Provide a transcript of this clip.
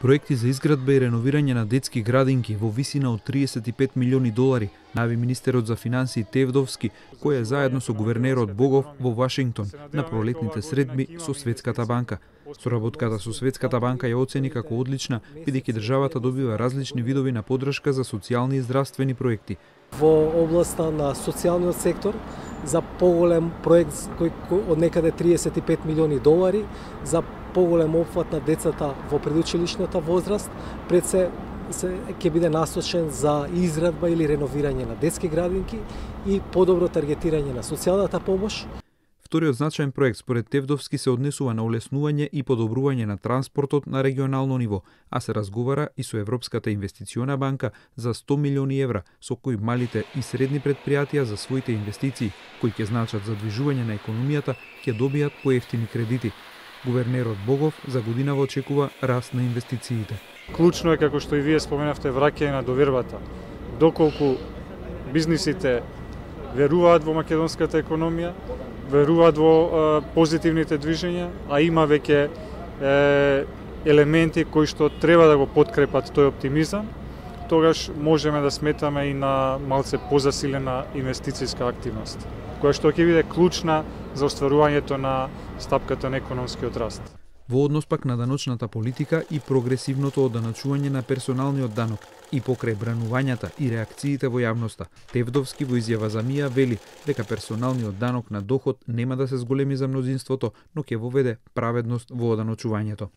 Проекти за изградба и реновирање на детски градинки во висина од 35 милиони долари, најави министерот за финансии Тевдовски, кој е заедно со гувернерот Богов во Вашингтон на пролетните средби со Светската банка. Соработката со Светската банка ја оцени како одлична, бидејќи државата добива различни видови на поддршка за социјални и здравствени проекти. Во областа на социјалниот сектор за поголем проект кој од некаде 35 милиони долари за поголем опфат на децата во предучилишната возраст, пред се ќе биде насочен за изградба или реновирање на детски градинки и подобро таргетирање на социјалната помош. Вториот значаен проект според Тевдовски се однесува на олеснување и подобрување на транспортот на регионално ниво, а се разговара и со Европската инвестициона банка за 100 милиони евра, со кои малите и средни предпријатија за своите инвестиции, кои ќе значат задвижување на економијата, ќе добијат поевтини кредити. Гувернерот Богов за годинава очекува раст на инвестициите. Клучно е, како што и вие споменавте, враќање на довербата. Доколку бизнисите веруваат во македонската економија, веруваат во позитивните движења, а има веќе елементи кои што треба да го подкрепат тој оптимизам, тогаш можеме да сметаме и на малце позасилена инвестицијска активност, која што ќе биде клучна за остварувањето на стапката на економскиот раст. Во однос пак на даночната политика и прогресивното оданачување на персоналниот данок и покрај бранувањата и реакциите во јавноста, Тевдовски во изјава за МИА вели дека персоналниот данок на доход нема да се зголеми за мнозинството, но ќе воведе праведност во оданочувањето.